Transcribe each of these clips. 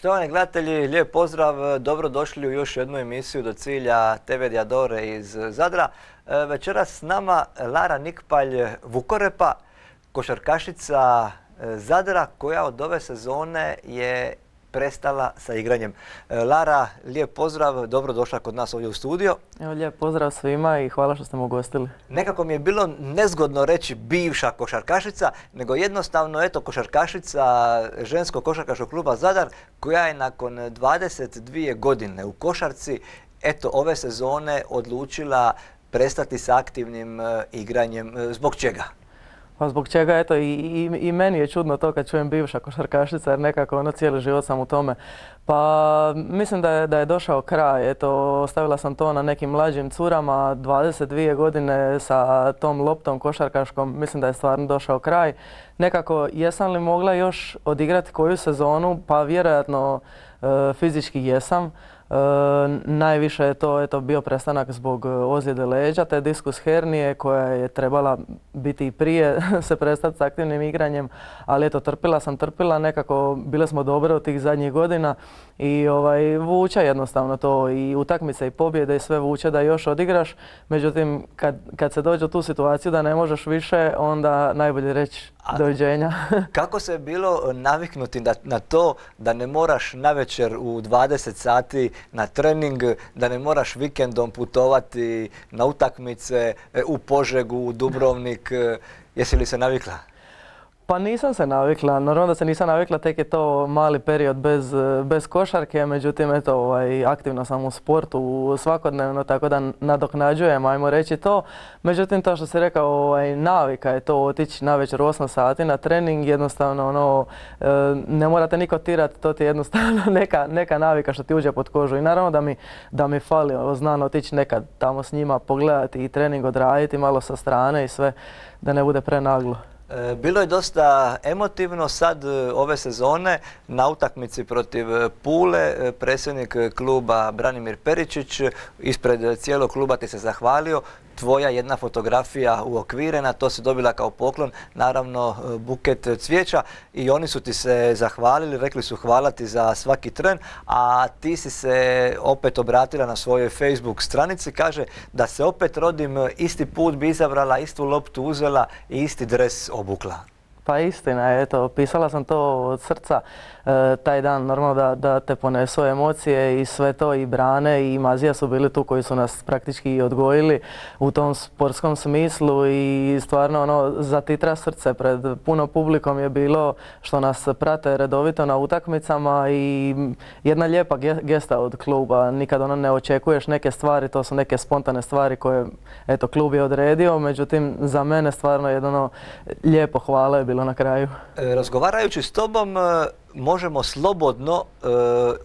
Štovani gledatelji, lijep pozdrav, dobrodošli u još jednu emisiju Do cilja TV Diadore iz Zadra. Večeras s nama Lara Nikpalj Vukorepa, košarkašica Zadra koja od ove sezone je prestala sa igranjem. Lara, lijep pozdrav, dobrodošla kod nas ovdje u studio. Evo, lijep pozdrav svima i hvala što ste me ugostili. Nekako mi je bilo nezgodno reći bivša košarkašica, nego jednostavno eto košarkašica ženskog košarkaškog kluba Zadar koja je nakon 22 godine u košarci eto ove sezone odlučila prestati sa aktivnim igranjem. Zbog čega? Pa zbog čega, eto, i meni je čudno to kad čujem bivša košarkašica, jer nekako cijeli život sam u tome. Pa mislim da je došao kraj, eto, ostavila sam to na nekim mlađim curama, 22 godine sa tom loptom košarkaškom, mislim da je stvarno došao kraj. Nekako, jesam li mogla još odigrati koju sezonu? Pa vjerojatno fizički jesam. Najviše je to bio prestanak zbog ozljede leđa, te diskus hernije koja je trebala biti i prije se prestati s aktivnim igranjem, ali eto trpila sam, nekako bile smo dobre od tih zadnjih godina i vuče jednostavno to i utakmice i pobjede i sve vuče da još odigraš, međutim kad se dođe u tu situaciju da ne možeš više, onda najbolje reći doviđenja. Kako se je bilo naviknuti na to da ne moraš navečer u 20 sati na trening, da ne moraš vikendom putovati na utakmice u Požegu, u Dubrovnik? Jesi li se navikla? Pa nisam se navikla, normalno da se nisam navikla, tek je to mali period bez košarke, međutim eto, aktivno sam u sportu svakodnevno, tako da nadoknađujem, ajmo reći to. Međutim, to što si rekao, navika je to otići navečer u 8 sati na trening, jednostavno ne morate niko tirati, to ti je jednostavno neka navika što ti uđe pod kožu i naravno da mi fali, znam otići nekad tamo s njima pogledati i trening odraditi malo sa strane i sve, da ne bude prenaglo. Bilo je dosta emotivno sad ove sezone na utakmici protiv Pule. Predsjednik kluba Branimir Peričić ispred cijelog kluba ti se zahvalio. Tvoja jedna fotografija uokvirena, to si dobila kao poklon, naravno buket cvijeća i oni su ti se zahvalili, rekli su hvala ti za svaki tren, a ti si se opet obratila na svojoj Facebook stranici, kaže da se opet rodim, isti put bi izabrala, istu loptu uzela i isti dres obukla. Pa istina je, eto, pisala sam to od srca taj dan, normalno da te ponesu emocije i sve to, i Brane i Mazija su bili tu koji su nas praktički i odgojili u tom sportskom smislu i stvarno zatitra srce pred puno publikom je bilo što nas prate redovito na utakmicama i jedna lijepa gesta od kluba, nikad ne očekuješ neke stvari, to su neke spontane stvari koje eto klub je odredio, međutim za mene stvarno jedno lijepo hvala je bilo na kraju. Razgovarajući s tobom možemo slobodno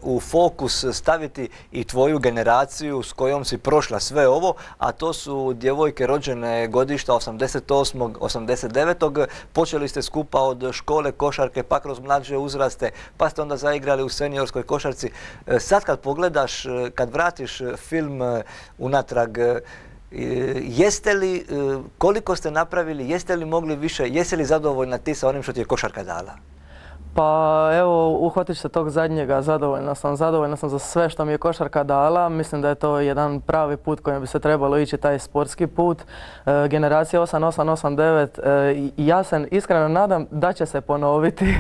u fokus staviti i tvoju generaciju s kojom si prošla sve ovo, a to su djevojke rođene godišta 88. 89. Počeli ste skupa od škole košarke, pa kroz mlađe uzraste, pa ste onda zaigrali u seniorskoj košarci. Sad kad pogledaš, kad vratiš film unatrag, jeste li, koliko ste napravili, jeste li mogli više, jesi li zadovoljna ti sa onim što ti je košarka dala? Pa evo, uhvatit se tog zadnjega, zadovoljna sam za sve što mi je košarka dala. Mislim da je to jedan pravi put kojim bi se trebalo ići, taj sportski put. Generacija 88-89, ja se iskreno nadam da će se ponoviti,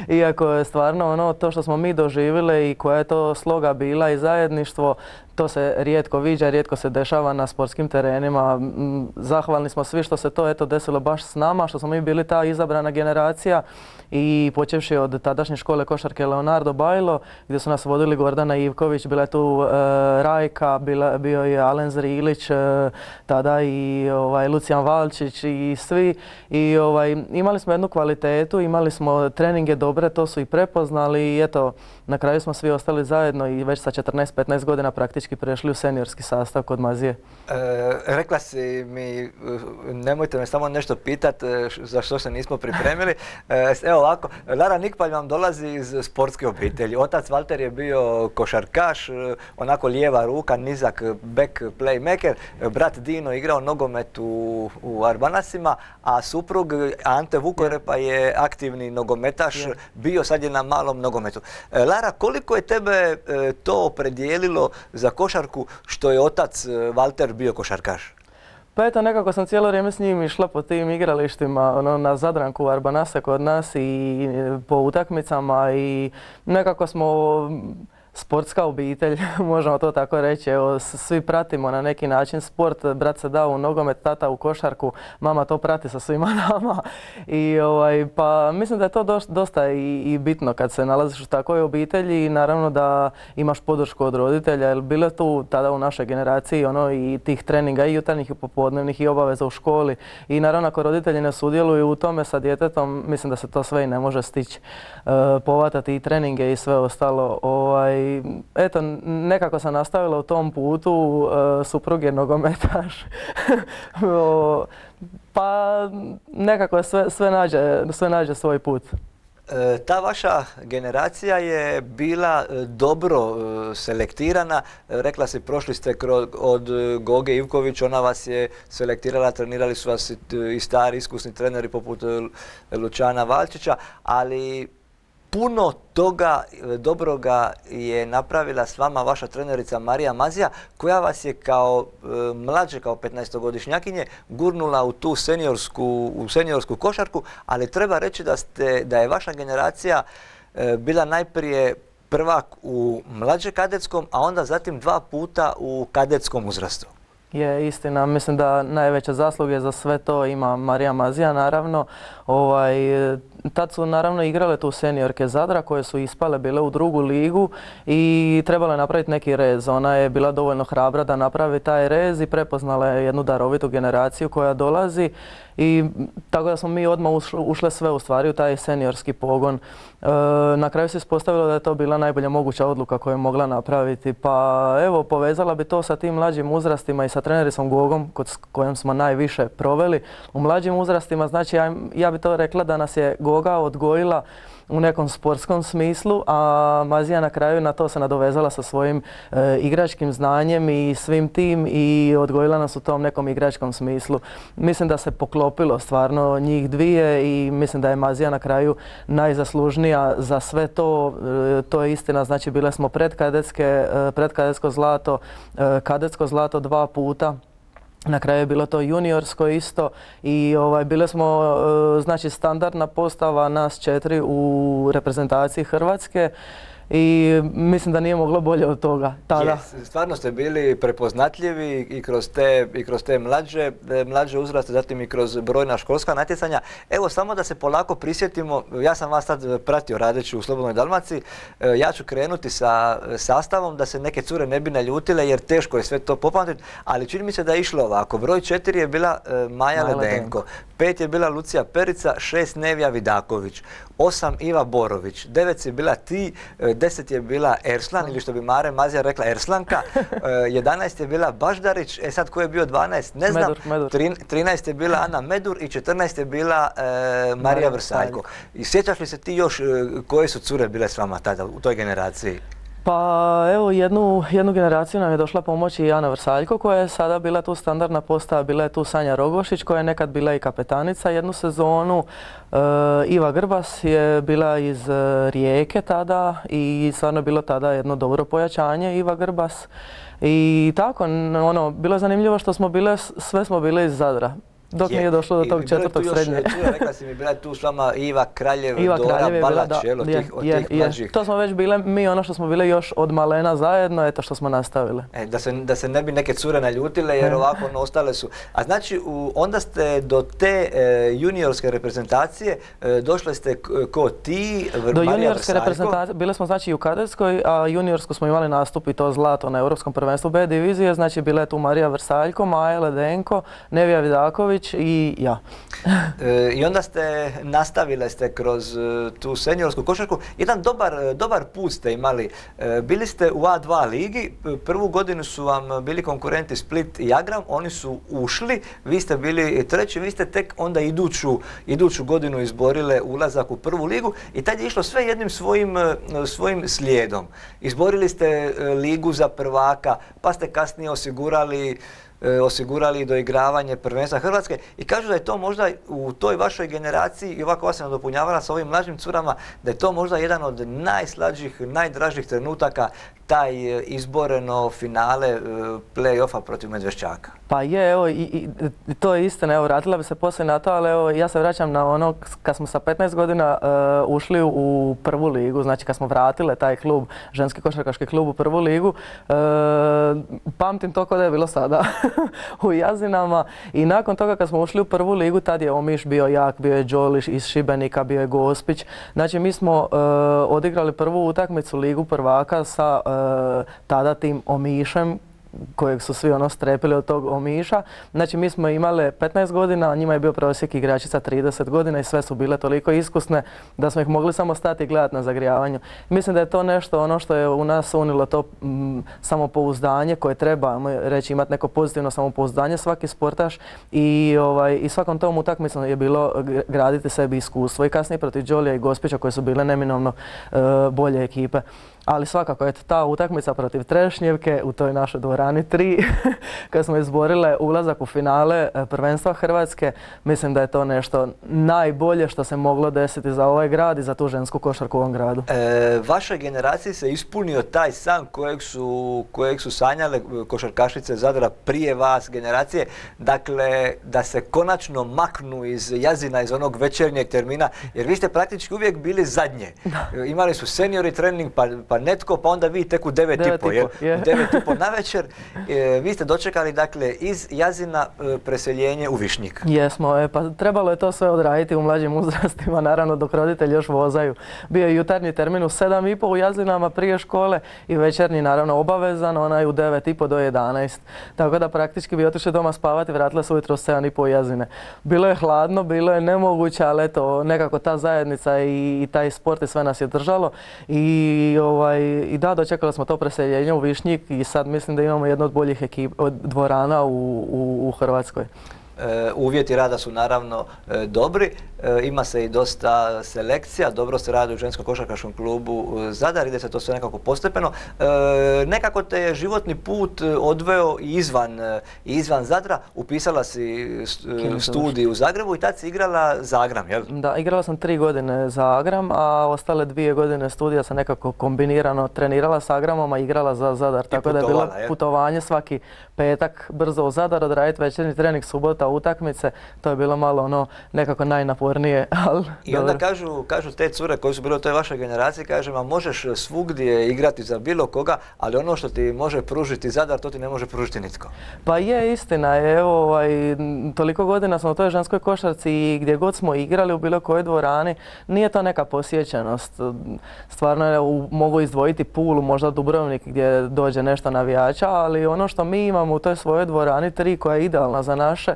iako je stvarno to što smo mi doživjeli i koja je to sloga bila i zajedništvo, to se rijetko viđa, rijetko se dešava na sportskim terenima. Zahvalni smo svi što se to eto desilo baš s nama, što smo mi bili ta izabrana generacija i počevši od tadašnje škole košarke Leonardo Bajlo, gdje su nas vodili Gordana Ivković, bila je tu Rajka, bio je Alen Zrilić, tada i Lucijan Valčić i svi. I imali smo jednu kvalitetu, imali smo treninge dobre, to su i prepoznali i eto, na kraju smo svi ostali zajedno i već sa 14-15 godina praktički zajednički prešli u seniorski sastav kod Mazije. Rekla si mi, nemojte me samo nešto pitati za što se nismo pripremili. Evo ovako, Lara Nikpalj vam dolazi iz sportske obitelji. Otac Valter je bio košarkaš, onako lijeva ruka, nizak back playmaker. Brat Dino igrao nogomet u Arbanasima, a suprug Ante Vukorepa je aktivni nogometaš, bio sad je na malom nogometu. Lara, koliko je tebe to opredijelilo za košarku što je otac Valter bio košarkaš? Pa eto, nekako sam cijelo vrijeme s njim išla po tim igralištima, na Zadranku, Arbanase kod nas i po utakmicama i nekako smo sportska obitelj, možemo to tako reći. Evo, svi pratimo na neki način sport, brat se dao u nogomet, tata u košarku, mama to prati sa svima nama. I pa mislim da je to dosta i bitno kad se nalaziš u takvoj obitelji i naravno da imaš podršku od roditelja, jer bilo je tu tada u našoj generaciji i tih treninga i jutarnjih i popodnevnih i obaveza u školi. I naravno ako roditelji ne sudjeluju u tome sa djetetom, mislim da se to sve i ne može stići. Povatati i treninge i sve ostalo. Eto, nekako sam nastavila u tom putu, suprug je nogometaš, pa nekako sve nađe svoj put. Ta vaša generacija je bila dobro selektirana. Rekla si, prošli ste od Goge Ivković, ona vas je selektirala, trenirali su vas i stari iskusni treneri poput Lučana Valčića, ali puno toga dobroga je napravila s vama vaša trenerica Marija Mazija, koja vas je kao mlađe, kao 15-godišnjakinje gurnula u tu seniorsku košarku, ali treba reći da je vaša generacija bila najprije prvak u mlađe kadetskom, a onda zatim 2 puta u kadetskom uzrastu. Je istina, mislim da najveće zasluge za sve to ima Marija Mazija, naravno. Tad su naravno igrale tu seniorke Zadra koje su ispale, bile u drugu ligu i trebalo je napraviti neki rez. Ona je bila dovoljno hrabra da napravi taj rez i prepoznala je jednu darovitu generaciju koja dolazi i tako da smo mi odmah ušle sve u stvari u taj seniorski pogon. Na kraju se ispostavilo da je to bila najbolja moguća odluka koju je mogla napraviti. Pa evo, povezala bi to sa tim mlađim uzrastima i sa trenericom Gogom s kojom smo najviše proveli. U mlađim uzrastima, znači ja bi to rekla da nas je Goga odgojila u nekom sportskom smislu, a Mazija na kraju na to se nadovezala sa svojim igračkim znanjem i svim tim i odgojila nas u tom nekom igračkom smislu. Mislim da se poklopilo stvarno njih dvije i mislim da je Mazija na kraju najzaslužnija za sve to. To je istina, znači bile smo predkadetsko zlato, kadetsko zlato 2 puta. Na kraju je bilo to juniorsko isto i bile smo znači standardna postava nas 4 u reprezentaciji Hrvatske i mislim da nije moglo bolje od toga tada. Stvarno ste bili prepoznatljivi i kroz te mlađe uzraste, zatim i kroz brojna školska natjecanja. Evo, samo da se polako prisjetimo, ja sam vas sad pratio radeći u Slobodnoj Dalmaciji, ja ću krenuti sa sastavom da se neke cure ne bi naljutile jer teško je sve to popamtiti, ali čini mi se da je išlo ovako. Broj 4 je bila Maja Ledenko, 5 je bila Lucija Perica, 6 Nevija Vidaković, 8 Iva Borović, 9 je bila ti, 10 je bila Erslan, ili što bi Mare Mazija rekla Erslanka, 11 je bila Baždarić, sad ko je bio 12, ne znam, Medur. 13 je bila Ana Medur i 14 je bila Marija Vrsaljko. I sjećaš li se ti još koje su cure bile s vama tada u toj generaciji? Pa evo, jednu generaciju nam je došla pomoći i Ana Vrsaljko koja je sada bila tu standardna postava, bila je tu Sanja Rogošić koja je nekad bila i kapetanica jednu sezonu. Iva Grbas je bila iz Rijeke tada i stvarno je bilo tada jedno dobro pojačanje Iva Grbas. I tako, bilo je zanimljivo što sve smo bile iz Zadra. Dok nije došlo do tog 4. srednje. Rekla si mi, bila je tu s vama Iva Kraljev, Dora Balać, od tih mlađih. To smo već bile mi, što smo bile još od malena zajedno, eto što smo nastavile. Da se ne bi neke cure naljutile jer ovako ostale su. A znači, onda ste do te juniorske reprezentacije došle ste ko ti, Marija Vrsaljko? Do juniorske reprezentacije, bile smo znači i u kadetskoj, a juniorsku smo imali nastup i to zlato na Europskom prvenstvu B divizije, znači bila je tu Marija Vrsaljko, Maja Ledenko, Nevija Vidaković, Nikolić i ja. I onda nastavile ste kroz tu seniorsku košarku. Jedan dobar put ste imali. Bili ste u A2 ligi, prvu godinu su vam bili konkurenti Split i Agram, oni su ušli, vi ste bili treći, vi ste tek onda iduću godinu izborile ulazak u prvu ligu i tad je išlo sve jednim svojim slijedom. Izborili ste ligu za prvaka, pa ste kasnije osigurali doigravanje prvenstva Hrvatske i kažu da je to možda u toj vašoj generaciji, i ovako vas sam nadopunjavala sa ovim mlađim curama, da je to možda jedan od najslađih, najdražih trenutaka, taj izboreno finale play-offa protiv Medveščaka. Pa je, evo, i to je istina, evo, vratila bi se poslije na to, ali evo, ja se vraćam na ono kad smo sa 15 godina ušli u prvu ligu, znači kad smo vratile taj klub, ženski košarkaški klub u prvu ligu, pamtim to kao da je bilo sada u Jazinama i nakon toga kad smo ušli u prvu ligu, tad je Omiš bio jak, bio je Đoliš iz Šibenika, bio je Gospić, znači mi smo odigrali prvu utakmicu ligu prvaka sa tada tim Omišem, kojeg su svi strepili od tog Omiša. Znači mi smo imali 15 godina, a njima je bio prosjek igračica 30 godina i sve su bile toliko iskusne da smo ih mogli samo stati i gledati na zagrijavanju. Mislim da je to nešto ono što je u nas unilo to samopouzdanje koje treba reći imati neko pozitivno samopouzdanje svaki sportaš i svakom tom utakmicom je bilo graditi sebi iskustvo i kasnije protiv Đolija i Gospića koje su bile neminovno bolje ekipe. Ali svakako, eto, ta utakmica protiv Trešnjevke u toj našoj dvorani 3, kad smo izborile ulazak u finale prvenstva Hrvatske, mislim da je to nešto najbolje što se moglo desiti za ovaj grad i za tu žensku košarku u ovom gradu. Vašoj generaciji se ispunio taj san kojeg su sanjale košarkašice Zadra prije vas generacije, dakle da se konačno maknu iz Jazina, iz onog večernjeg termina, jer vi ste praktički uvijek bili zadnje. Imali su seniori trening, pa netko, pa onda vi tek u 9:30 na večer. Vi ste dočekali, dakle, iz Jazina preseljenje u Višnjik. Jesmo, pa trebalo je to sve odraditi u mlađim uzrastima, naravno dok roditelji još vozaju. Bio je jutarnji termin u 7:30 u Jazinama prije škole i večernji naravno obavezan, onaj u 9:30 do 11. Tako da praktički bi otišli doma spavati, vratile se ujutro u 7:30 u Jazine. Bilo je hladno, bilo je nemoguće, ali eto, nekako ta zajednica i taj sport i sve nas je držalo. I da, dočekali smo to preseljenje u Višnjik i sad mislim da imamo jednu od boljih dvorana u Hrvatskoj. Uvjeti rada su naravno dobri, ima se i dosta selekcija, dobro se radi u ženskom košarkaškom klubu Zadar, ide se to sve nekako postepeno. Nekako te je životni put odveo i izvan Zadra, upisala si studij u Zagrebu i tad si igrala za Agram, jel? Da, igrala sam 3 godine za Agram, a ostale 2 godine studija sam nekako kombinirano trenirala sa Agramom, a igrala za Zadar. Tako da je bilo putovanje svaki petak brzo u Zadar, odraditi večernji trening, subota, utakmice, to je bilo malo nekako najnapornije, ali i onda kažu te cure koje su bile u toj vašoj generaciji, kažu, ma možeš svugdje igrati za bilo koga, ali ono što ti može pružiti Zadar, to ti ne može pružiti nitko. Pa je, istina je, evo, toliko godina smo u toj ženskoj košarci i gdje god smo igrali u bilo kojoj dvorani, nije to neka posjećenost. Stvarno mogu izdvojiti Pulu, možda Dubrovnik gdje dođe nešto navijača, ali ono što mi imamo u toj svojoj dvorani 3 koja je idealna za naše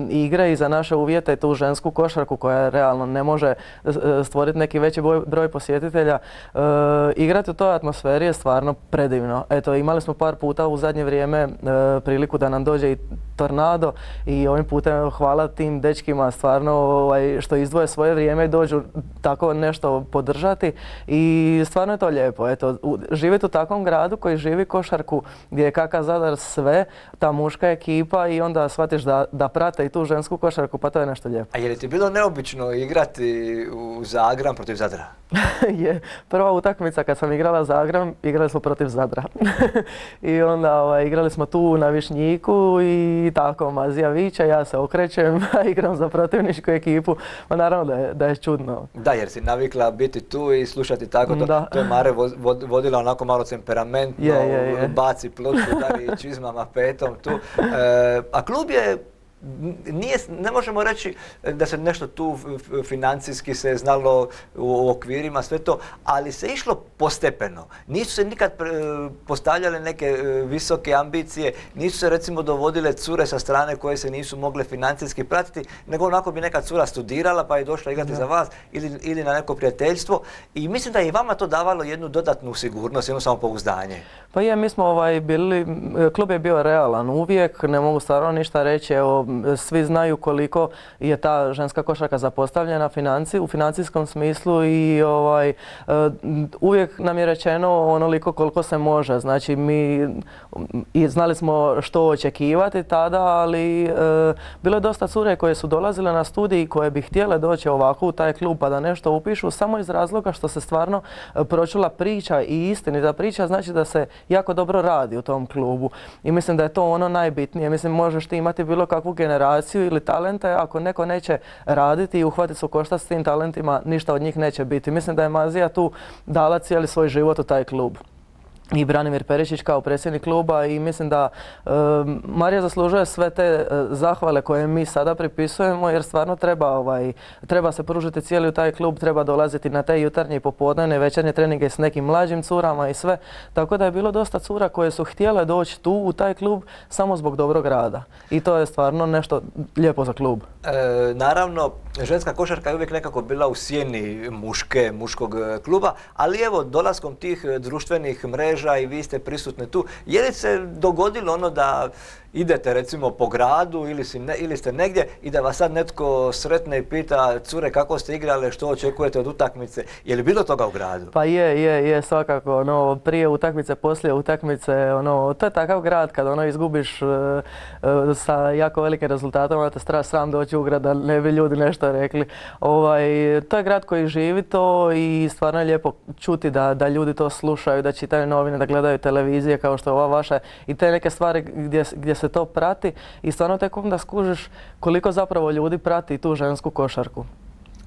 igre i za naše uvjete i tu žensku košarku koja realno ne može stvoriti neki veći broj posjetitelja. Igrati u toj atmosferi je stvarno predivno. Eto, imali smo par puta u zadnje vrijeme priliku da nam dođe i Tornado i ovim putem hvala tim dečkima stvarno što izdvoje svoje vrijeme i dođu tako nešto podržati i stvarno je to lijepo. Eto, živjeti u takvom gradu koji živi košarku gdje je KK Zadar sve, ta muška ekipa i onda shvatiš da prate i tu žensku košarku, pa to je nešto lijepo. A je li ti bilo neobično igrati za Agram protiv Zadra? Je, prva utakmica kad sam igrala za Agram, igrali smo protiv Zadra. I onda igrali smo tu na Višnjiku i tako, Mazija viče, ja se okrećem, igram za protivničku ekipu, pa naravno da je čudno. Da, jer si navikla biti tu i slušati tako to. To je Mare vodila onako malo temperamentno, baci ploču, udari čizmama petom tu. A klub je ne možemo reći da se nešto tu financijski se znalo u okvirima, sve to, ali se išlo postepeno. Nisu se nikad postavljale neke visoke ambicije, nisu se recimo dovodile cure sa strane koje se nisu mogle financijski pratiti, nego onako bi neka cura studirala pa je došla igrati za vas ili na neko prijateljstvo. I mislim da je i vama to davalo jednu dodatnu sigurnost, jedno samopouzdanje. Pa je, mi smo bili, klub je bio realan uvijek, ne mogu stvarno ništa reći, evo, svi znaju koliko je ta ženska košarka zapostavljena u financijskom smislu i uvijek nam je rečeno onoliko koliko se može. Znači mi znali smo što očekivati tada, ali bilo je dosta cure koje su dolazile na studij i koje bi htjele doći ovako u taj klub pa da nešto upišu samo iz razloga što se stvarno pročula priča i istinita priča, znači da se jako dobro radi u tom klubu. I mislim da je to ono najbitnije. Mislim, možeš ti imati bilo kakvu generaciju ili talente, ako neko neće raditi i uhvatiti se u koštac s tim talentima, ništa od njih neće biti. Mislim da je Mazija tu dala cijeli svoj život u taj klub. I Branimir Peričić kao predsjednik kluba i mislim da Marija zaslužuje sve te zahvale koje mi sada pripisujemo jer stvarno treba se pružiti cijeli u taj klub, treba dolaziti na te jutarnje i popodnevne večernje treninge s nekim mlađim curama i sve. Tako da je bilo dosta cura koje su htjele doći tu u taj klub samo zbog dobrog rada. I to je stvarno nešto lijepo za klub. Naravno, ženska košarka je uvijek nekako bila u sjeni muškog kluba, ali evo dolaskom tih društvenih mreža i vi ste prisutni tu. Je li se dogodilo ono da idete recimo po gradu ili ste negdje i da vas sad netko sretne i pita cure kako ste igrale, što očekujete od utakmice? Je li bilo toga u gradu? Pa je svakako. Prije utakmice, poslije utakmice, to je takav grad kad izgubiš sa jako velikim rezultatom, onda te sram doći u grad da ne bi ljudi nešto rekli. To je grad koji živi to i stvarno je lijepo čuti da ljudi to slušaju, da čitaju novine, da gledaju televizije kao što je ova vaša i te neke stvari gdje se to prati i stvarno tek onda skužiš koliko zapravo ljudi prati tu žensku košarku.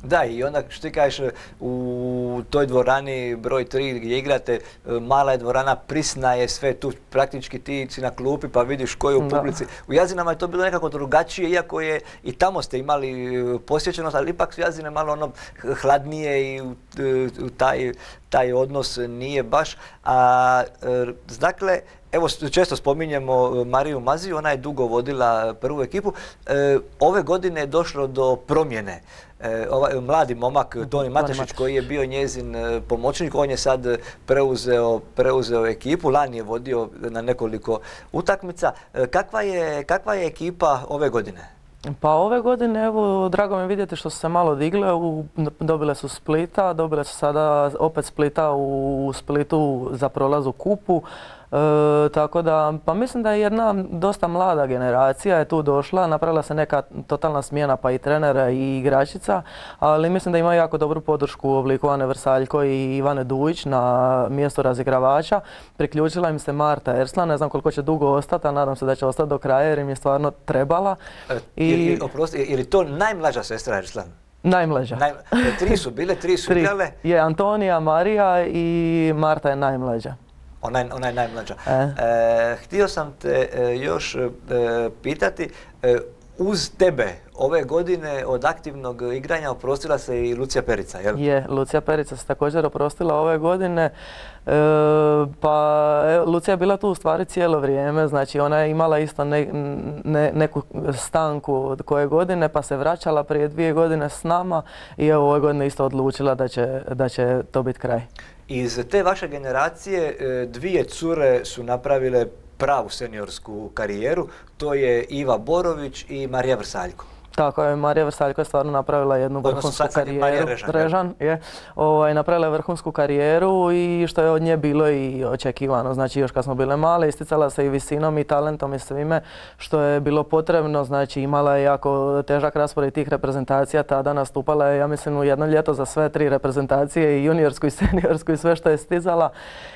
Da, i onda što ti kažeš u toj dvorani broj 3 gdje igrate, mala je dvorana, prisna je sve tu, praktički ti si na klupi pa vidiš ko je u publici. U Jazinama je to bilo nekako drugačije, iako je i tamo ste imali posjećenost, ali ipak su Jazine malo hladnije i taj odnos nije baš. Dakle, evo često spominjemo Mariju Maziju, ona je dugo vodila prvu ekipu. Ove godine je došlo do promjene. Mladi momak Toni Matešić koji je bio njezin pomoćnik, on je sad preuzeo ekipu, lani je vodio na nekoliko utakmica. Kakva je ekipa ove godine? Pa ove godine, evo, drago mi vidjeti što su se malo digle, dobile su Splita, dobile su sada opet Splita u Splitu za prolaz u kupu. Tako da, pa mislim da je jedna dosta mlada generacija je tu došla, napravila se neka totalna smjena pa i trenera i igračica, ali mislim da ima jako dobru podršku u obliku Ane Vrsaljko i Ivane Dujić na mjestu razigravača. Priključila im se Marta Erslan, ne znam koliko će dugo ostati, a nadam se da će ostati do kraja jer im je stvarno trebala. Je li to najmlađa sestra Erslan? Najmlađa. Tri su igrale? Je Antonija, Marija i Marta je najmlađa. Ona je najmlađa. Htio sam te još pitati, uz tebe ove godine od aktivnog igranja oprostila se i Lucija Perica, jel? Je, Lucija Perica se također oprostila ove godine. Lucija je bila tu u stvari cijelo vrijeme, znači ona je imala isto neku stanku od koje godine pa se vraćala prije 2 godine s nama i evo ove godine isto odlučila da će to biti kraj. Iz te vaše generacije 2 cure su napravile pravu seniorsku karijeru, to je Iva Borović i Marija Vrsaljko. Tako je, Marija Vrsaljko je stvarno napravila jednu vrhunsku karijeru. Režan je. Napravila je vrhunsku karijeru i što je od nje bilo i očekivano. Znači još kad smo bile male, isticala se i visinom i talentom i svime što je bilo potrebno. Znači imala je jako težak raspored tih reprezentacija. Tada nastupala je, ja mislim, u jedno ljeto za sve 3 reprezentacije, i juniorsku i seniorsku i sve što je stizala.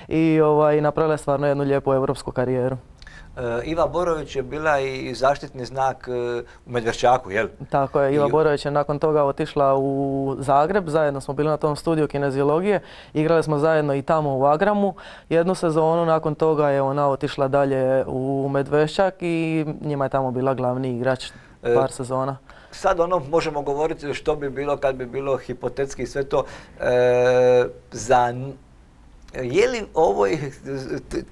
I napravila je stvarno jednu lijepu europsku karijeru. Iva Borović je bila i zaštitni znak u Medveščaku, jel? Tako je, Iva Borović je nakon toga otišla u Zagreb, zajedno smo bili na tom studiju kineziologije, igrali smo zajedno i tamo u Agramu jednu sezonu, nakon toga je ona otišla dalje u Medveščak i njima je tamo bila glavni igrač. par sezona. Sad možemo govoriti što bi bilo kad bi bilo hipotetski sve to. Je li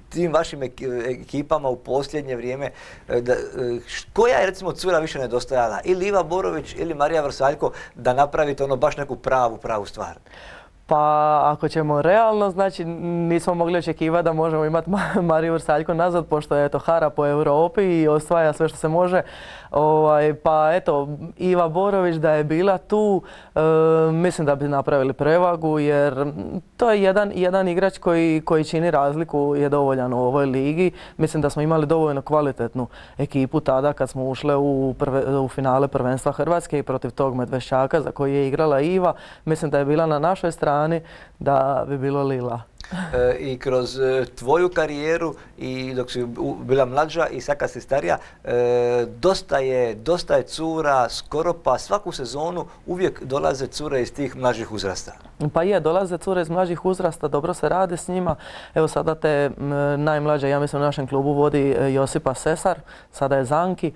tim vašim ekipama u posljednje vrijeme, koja je recimo cura više nedostajala? Ili Iva Borović ili Marija Vrsaljko da napravite baš neku pravu stvar? Pa ako ćemo realno, znači nismo mogli očekivati da možemo imati Mariju Vrsaljko nazad, pošto je hara po Europi i osvaja sve što se može. Pa eto, Iva Borović da je bila tu, mislim da bi napravili prevagu, jer to je jedan igrač koji čini razliku, je dovoljan u ovoj ligi. Mislim da smo imali dovoljno kvalitetnu ekipu tada kad smo ušle u finale prvenstva Hrvatske i protiv tog Medveščaka za koji je igrala Iva. Mislim da je bila na našoj strani da bi bilo lila. I kroz tvoju karijeru i dok si bila mlađa i sad kad si starija, dosta je cura, skoro pa svaku sezonu uvijek dolaze cure iz tih mlađih uzrasta. Pa dolaze cure iz mlađih uzrasta, dobro se radi s njima. Evo sada te najmlađe, ja mislim u našem klubu vodi Josipa Sesar, sada je Zanki.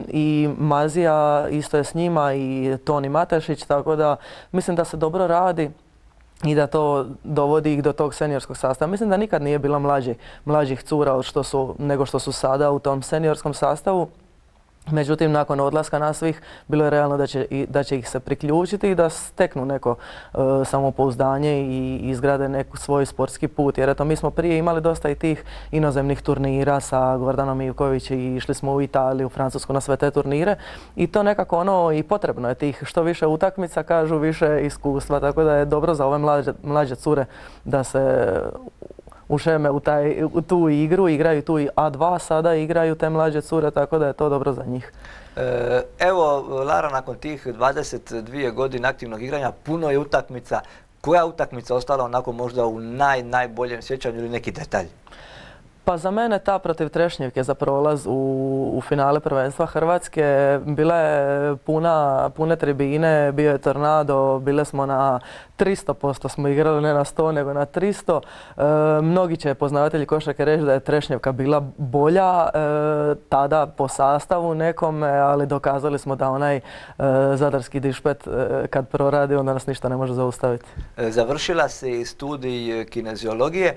I Mazija isto je s njima i Toni Matešić, tako da mislim da se dobro radi i da to dovodi ih do tog seniorskog sastava. Mislim da nikad nije bila mlađih cura nego što su sada u tom seniorskom sastavu. Međutim, nakon odlaska nas svih, bilo je realno da će ih se priključiti i da steknu neko samopouzdanje i izgrade neki svoj sportski put. Jer eto, mi smo prije imali dosta i tih inozemnih turnira sa Gordanom Ivković i išli smo u Italiju, u Francusku na sve te turnire. I to nekako i potrebno je tih što više utakmica, kažu, više iskustva. Tako da je dobro za ove mlađe cure da se ušeme u tu igru, igraju tu i A2 sada, igraju te mlađe cure, tako da je to dobro za njih. Evo, Lara, nakon tih 22 godine aktivnog igranja, puno je utakmica. Koja utakmica ostala onako možda u najboljem sjećanju ili neki detalj? Pa za mene ta protiv Trešnjevke za prolaz u finale prvenstva Hrvatske, bila je pune tribine, bio je tornado, bile smo na 300% smo igrali, ne na 100 nego na 300. Mnogi će poznavatelji košarke reći da je Trešnjevka bila bolja tada po sastavu nekome, ali dokazali smo da onaj zadarski dišpet kad proradi onda nas ništa ne može zaustaviti. Završila si studij kineziologije,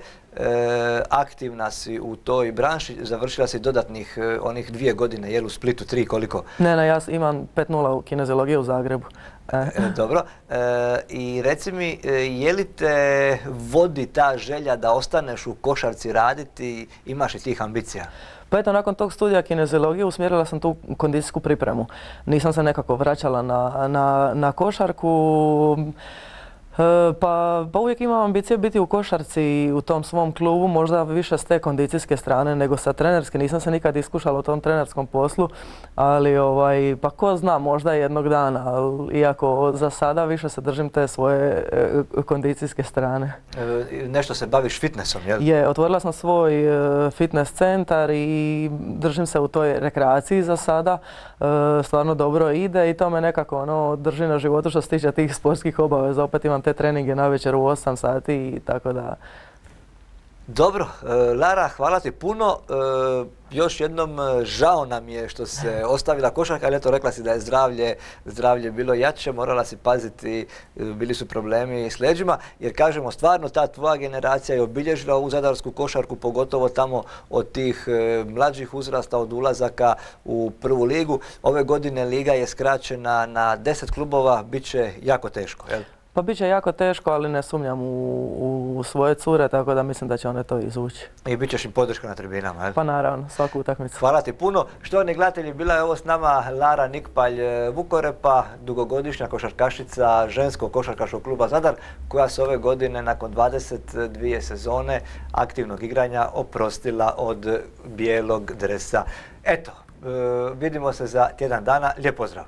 aktivna si u toj branši, završila si dodatnih onih 2 godine, jel u Splitu 3 koliko? Ne, ja imam 5.0 u kineziologiji u Zagrebu. Dobro. I reci mi, je li te vodi ta želja da ostaneš u košarci raditi, imaš li tih ambicija? Pa eto, nakon tog studija kineziologije usmjerila sam tu kondicijsku pripremu. Nisam se nekako vraćala na košarku. Pa uvijek imam ambicije biti u košarci u tom svom klubu, možda više s te kondicijske strane nego sa trenerske. Nisam se nikad iskušala u tom trenerskom poslu, ali pa ko zna, možda jednog dana, iako za sada više se držim te svoje kondicijske strane. Nešto se baviš fitnessom, jel? Otvorila sam svoj fitness centar i držim se u toj rekreaciji za sada. Stvarno dobro ide i to me nekako drži na životu što se tiče tih sportskih obaveza. Opet imam te treninge navečer u 8 sati i tako da. Dobro, Lara, hvala ti puno. Još jednom žao nam je što se ostavila košarka, ali eto, rekla si da je zdravlje bilo jače, morala si paziti, bili su problemi s leđima, jer kažemo stvarno ta tvoja generacija je obilježila ovu zadarsku košarku, pogotovo tamo od tih mlađih uzrasta, od ulazaka u prvu ligu. Ove godine liga je skraćena na 10 klubova, bit će jako teško, jel? Pa bit će jako teško, ali ne sumnjam u svoje cure, tako da mislim da će one to izvući. I bit ćeš im podrška na tribinama, jel? Pa naravno, svaku utakmicu. Hvala ti puno. Štovani gledatelji, bila je ovo s nama Lara Nikpalj Vukorepa, dugogodišnja košarkašica ženskog košarkaškog kluba Zadar, koja se ove godine nakon 22 sezone aktivnog igranja oprostila od bijelog dresa. Eto, vidimo se za tjedan dana. Lijep pozdrav!